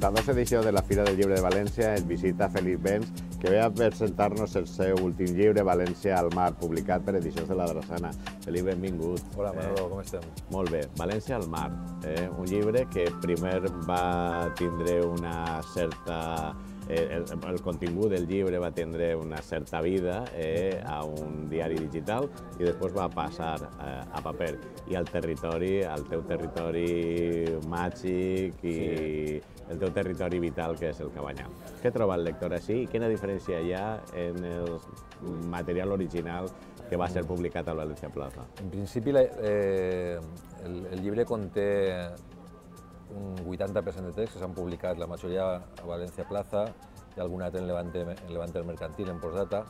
42a edició de la Fira del Llibre de València ens visita Felip Bens, que ve a presentar-nos el seu últim llibre, València al mar, publicat per Edicions de la Drassana. Felip, benvingut. Hola, Manolo, com estem? Molt bé, València al mar, un llibre que primer va tindre una certa... El contingut del llibre va tindre una certa vida a un diari digital i després va passar a paper i al territori, al teu territori màgic i el teu territori vital, que és el Cabanyal. Què troba el lector així i quina diferència hi ha en el material original que va ser publicat a València Plaza? En principi, el llibre conté un 80% de text que s'han publicat, la majoria a València Plaza i algun altre en Levante el Mercantil, en postdata,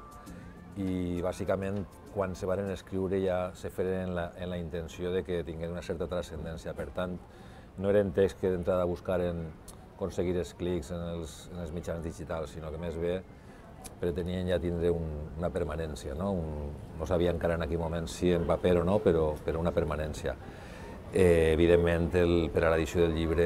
i bàsicament quan se van escriure ja se feren en la intenció de que tinguin una certa transcendència. Per tant, no eren texts que d'entrada buscaren aconseguir els clics en els mitjans digitals, sinó que més bé pretenien ja tindre una permanència. No sabia encara en aquell moment si en paper o no, però una permanència. Evidentment, per a l'edició del llibre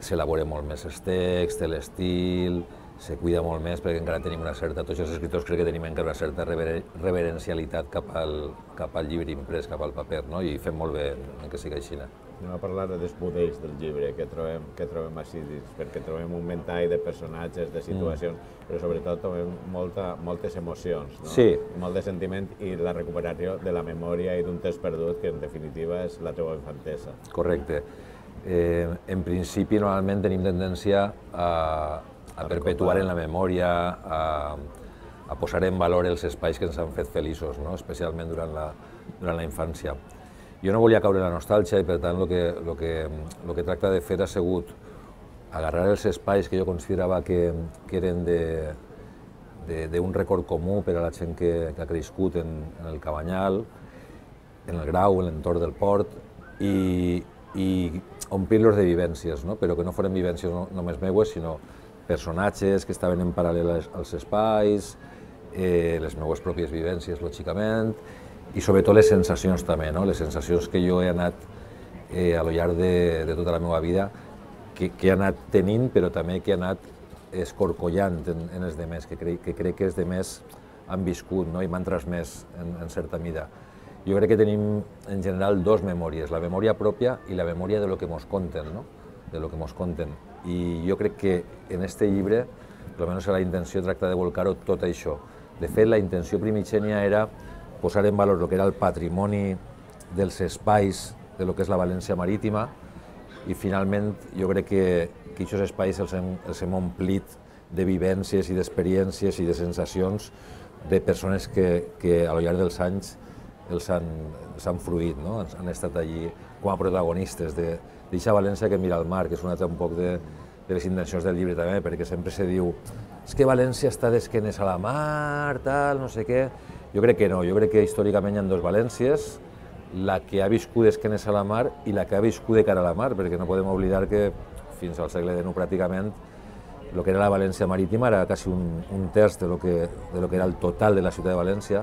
s'elabora molt més el text, l'estil, se cuida molt més perquè encara tenim una certa, tots els escriptors crec que tenim encara una certa reverencialitat cap al llibre imprès, cap al paper, no? I fem molt bé en que sigui així. Anem a parlar dels budells del llibre que trobem així dins, perquè trobem un ventall de personatges, de situacions, però sobretot trobem moltes emocions, no? Sí. Molt de sentiment i la recuperació de la memòria i d'un temps perdut, que en definitiva és la teva infantesa. Correcte. En principi, normalment tenim tendència a perpetuar en la memòria, a posar en valor els espais que ens han fet feliços, no? Especialment durant la infància. Jo no volia caure en la nostàlgia i, per tant, el que tracta de fer ha sigut agarrar els espais que jo considerava que eren d'un record comú per a la gent que ha crescut en el Cabanyal, en el Grau, en l'entorn del port, i omplir-los de vivències, no? Però que no foren vivències només meues, sinó personatges que estaven en paral·lel als espais, les meues pròpies vivències, lògicament, i sobretot les sensacions també, no? Les sensacions que jo he anat a lo llarg de tota la meva vida, que he anat tenint, però també que he anat escorcollant en els demés, que crec que els demés han viscut, no? I m'han transmès en certa mida. Jo crec que tenim en general dos memòries, la memòria pròpia i la memòria de lo que mos conten, no? De lo que mos conten. I jo crec que en este llibre, almenys la intenció tracta de volcar-ho tot això. De fet, la intenció primigènia era posar en valor el que era el patrimoni dels espais de lo que és la València marítima i finalment jo crec que aquests espais els hem omplit de vivències i d'experiències i de sensacions de persones que a lo llarg dels anys els han fruït, no? Han estat allí com a protagonistes d'eixa València que mira al mar, que és un altre un poc de les intencions del llibre també, perquè sempre se diu és que València està d'esquenes a la mar, tal, no sé què. Jo crec que no, jo crec que històricament hi ha dues Valències, la que ha viscut d'esquenes a la mar i la que ha viscut de cara a la mar, perquè no podem oblidar que fins al segle XIX pràcticament el que era la València marítima era quasi un terç de lo que era el total de la ciutat de València.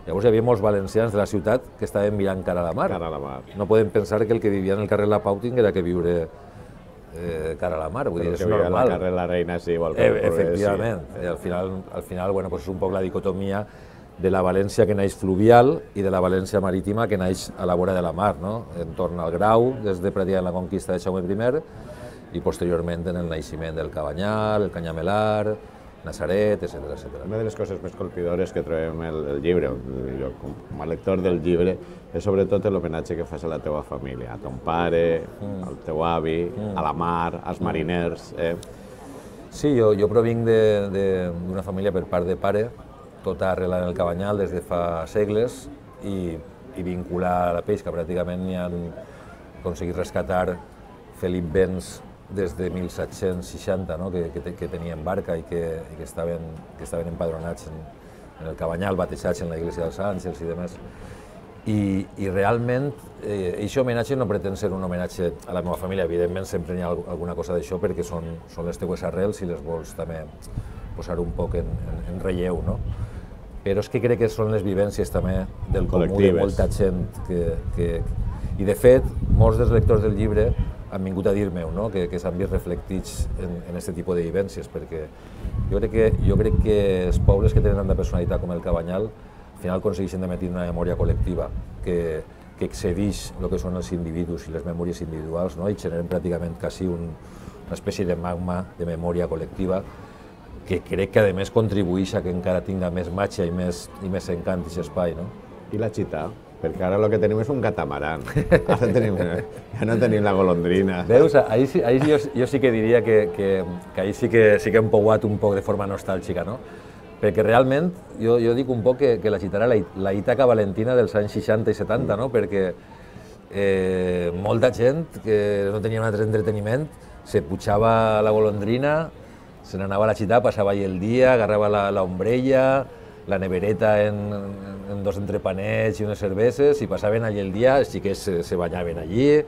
Llavors hi havia molts valencians de la ciutat que estaven mirant cara a la mar. Cara a la mar. No podem pensar que el que vivia en el carrer La Pau tinguera que viure cara a la mar, vull dir, és normal. Però que al carrer La Reina sí, igual que efectivament. Al final, bueno, és un poc la dicotomia de la València que naix fluvial i de la València marítima que naix a la vora de la mar, no? Entorn al Grau, des de pràcticament la conquista de Jaume I, i posteriorment en el naixement del Cabanyal, el Canyamelar, Nazaret, etc. Una de les coses més colpidores que trobem el llibre, jo com a lector del llibre, és sobretot l'homenatge que fas a la teva família, a ton pare, al teu avi, a la mar, als mariners. Sí, jo provinc d'una família per part de pare, tota arrelada en el Cabanyal des de fa segles i vinculada a la pesca. Pràcticament n'hi han aconseguit rescatar Felip Bens des de 1760, no? que tenien barca i que estaven empadronats en el Cabanyal, batejats en la Iglesia dels Àngels i demés. I realment, aquest homenatge no pretén ser un homenatge a la meva família, evidentment sempre hi ha alguna cosa d'això perquè són les teues arrels i les vols també posar un poc en relleu, no? Però és que crec que són les vivències també del comú de molta gent I de fet, molts dels lectors del llibre han vingut a dir-me, no? que s'han vist reflectits en aquest tipus de vivències, perquè jo crec que els pobles que tenen tanta personalitat com el Cabanyal al final aconsegueixen d'emetir una memòria col·lectiva que excedeix el que són els individus i les memòries individuals, no? I generen pràcticament quasi una espècie de magma de memòria col·lectiva que crec que a més contribueix a que encara tinga més matxa i més encant aquest espai. No? I la Chita? Perquè ara el que tenim és un catamaran. Ara ja no tenim la golondrina. Veus, ahí jo sí que diria que ahí sí que hem pouat un poc de forma nostàlgica, no? Perquè realment jo dic un poc que la Chita era la Ítaca valentina dels anys 60 i 70, no? Perquè molta gent que no tenia un altre entreteniment se pujava a la golondrina, se n'anava a la Chita, passava allà el dia, agarrava l'ombrella, la nevereta en dos entrepanets i unes cerveses, i passaven allí el dia, els xiquets se banyaven allí,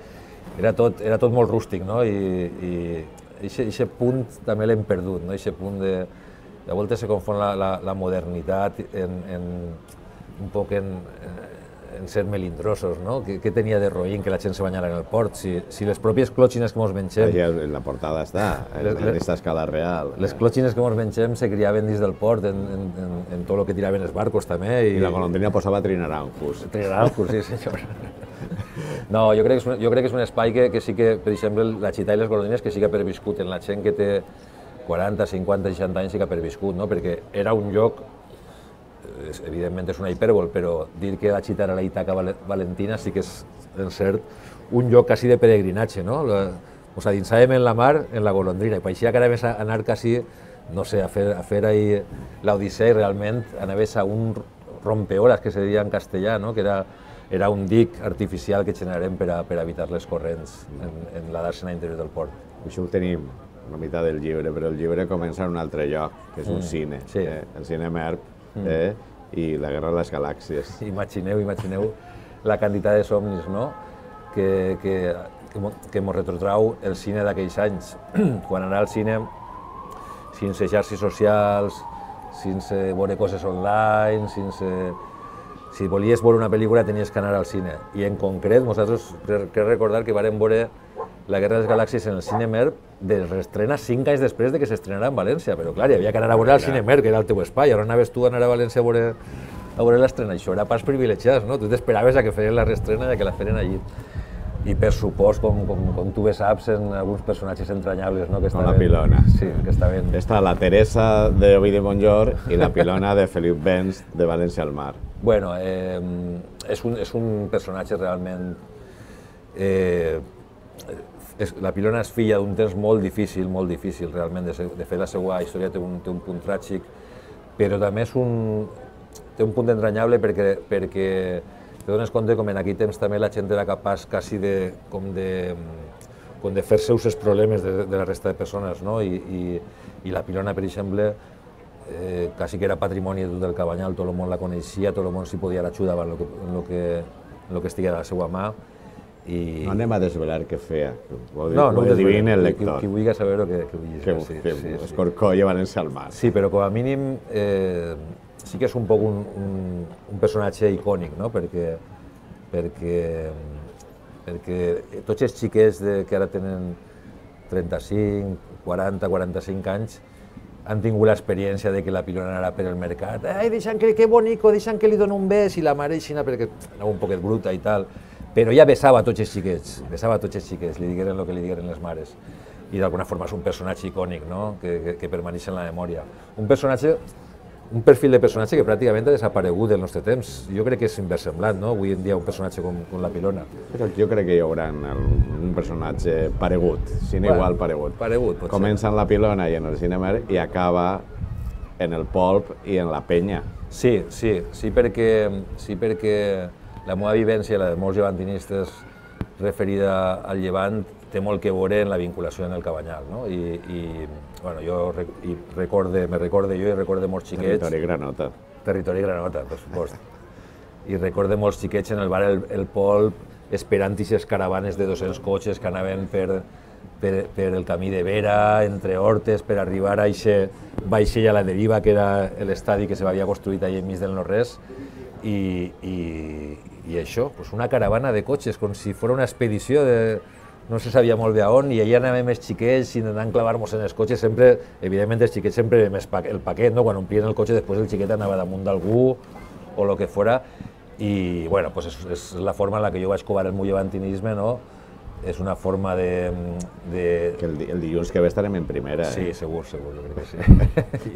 era tot molt rústic, no? I aquest punt també l'hem perdut, no? Aquest punt de voltes se confon la modernitat un poc en ser melindrosos, no? Què tenia de roïn que la gent se banyara en el port? Si les pròpies clòtxines que ens mengem... En la portada està, en aquesta escala real. Les clòtxines que ens mengem se criaven dins del port, en tot el que tiraven els barcos també. I la golondrina posava trinaranjos. Trinaranjos, sí senyor. No, jo crec que és un espai que sí que, per exemple, la Chita i les golondrines que sí que ha perviscut en la gent que té 40, 50, 60 anys sí que ha perviscut, no? Perquè era un lloc, evidentment és una hipèrbol, però dir que la Chita era la Ítaca valentina sí que és, en cert, un lloc quasi de peregrinatge, no? Ens adinsàvem en la mar, en la golondrina, i pareixia que anaves a anar quasi, no sé, a fer ahí l'Odissea, i realment anaves a un rompeolas, que se deia en castellà, no? Que era un dic artificial que generarem per a evitar les corrents en la dàrsena interior del port. Això ho tenim una meitat del llibre, però el llibre comença en un altre lloc, que és un cine, el cine Merp, i la Guerra de les Galàxies. Imagineu la quantitat de somnis, no? que ens retrotrau el cine d'aquells anys. Quan anar al cine sense xarxes socials, sense veure coses online, si volies veure una pel·lícula tenies que anar al cine. I en concret, nosaltres crec recordar que vàrem veure La Guerra de les Galàxies en el cine Merp de reestrena 5 anys després de que s'estrenarà en València, però clar, hi havia que anar a veure al cine Merp, que era el teu espai, ara anaves tu a anar a València a veure l'estrena, això era pas privilegiats, no? Tu t'esperaves a que feien la reestrena i a que la feren allí. I per supost, com tu bé saps, en alguns personatges entranyables, no? Com la Pilona. Sí, que estaven... Està la Teresa de Ovidi Montllor i la Pilona de Felip Benz de València al Mar. Bueno, és un personatge realment... La Pilona és filla d'un temps molt difícil realment, de fet la seva història té un punt tràgic, però també té un punt entranyable perquè te dones compte com en aquell temps també la gent era capaç quasi de fer seus els problemes de la resta de persones, no? I la Pilona, per exemple, quasi que era patrimoni de tot el Cabanyal, tot el món la coneixia, tot el món s'hi podia ajudar en el que estigués a la seva mà. No anem a desvelar què feia, ho adivina el lector. Qui vulgui saber-ho, que ho digui. Que escorcolla València al Mar. Sí, però com a mínim sí que és un poc un personatge icònic, no? Perquè tots els xiquets que ara tenen 35, 40, 45 anys han tingut l'experiència de que la Pilona anava per el mercat. Ai, deixant que bonico, deixant que li doni un bes, i la mare aixina perquè anava un poquet bruta i tal. Però ja besava tots els xiquets, li digueren el que li digueren les mares. I d'alguna forma és un personatge icònic, no? que permaneix en la memòria. Un perfil de personatge que pràcticament ha desaparegut del nostre temps. Jo crec que és inversemblant, no? Avui en dia un personatge com la Pilona. Però jo crec que hi haurà un personatge paregut, sine igual paregut. Potser. Comença en la Pilona i en el Cinemer i acaba en el Polp i en la Penya. Sí, perquè la meva vivència, la de molts llevantinistes referida al Llevant, té molt que veure en la vinculació en el Cabanyal, no? Bueno, me recorde jo i recorde molts xiquets... Territori Granota. Territori Granota, per supost. I recorde molts xiquets en el bar El Polp, esperant aquestes caravanes de 200 cotxes que anaven per el camí de Vera, entre hortes, per arribar a aquest vaixell a la deriva, que era l'estadi que s'havia construït allà enmig del no-res, i això, una caravana de cotxes, com si fos una expedició no se sabia molt bé a on, i allà anàvem els xiquets intentant clavar-nos en els cotxes, sempre, evidentment els xiquets sempre el paquet, no? Quan omplien el cotxe després el xiquet anava damunt d'algú o el que fora, i bueno, pues és la forma en la que jo vaig covar el meu llevantinisme, no? És una forma de... Que el dilluns que ve estarem en primera. Sí, segur, jo crec que sí.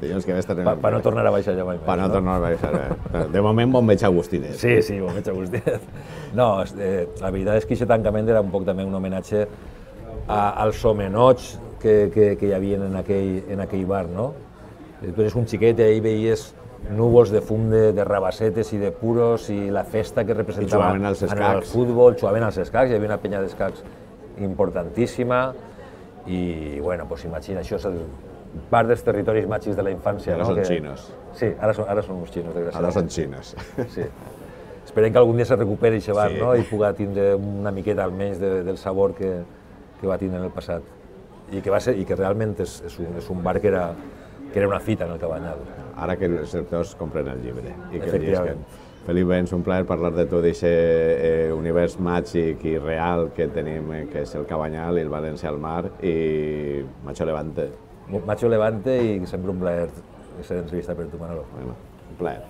Dilluns que ve estarem en primera. Per no tornar a baixar ja mai més. Per no tornar a baixar. De moment, bon veig Agustinet. Sí, bon veig Agustinet. No, la veritat és que aquest tancament era un poc també un homenatge als homenots que hi havia en aquell bar, no? Tu eres un xiquet i ahir veies núvols de fum de rabassetes i de puros i la festa que representava en el futbol, jugaven als escacs, hi havia una penya d'escacs importantíssima i, bueno, pues imagina, això és part dels territoris màgics de la infància. Ara són xinos. Sí, ara són uns xinos, desgraciadament. Ara són xinos. Sí. Esperem que algun dia se recuperi aquest bar, no? I pugui tindre una miqueta almenys del sabor que va tindre en el passat. I que realment és un bar que era una fita en el Cabanyal. Ara que els lectors compren el llibre i que el Efectivament. llisquen. Felip, és un plaer parlar de tu, d'aquest univers màgic i real que tenim, que és el Cabanyal i el València al mar, i Macho Levante. Macho Levante, i sempre un plaer ser entrevistat per tu, Manolo. Bueno, un plaer.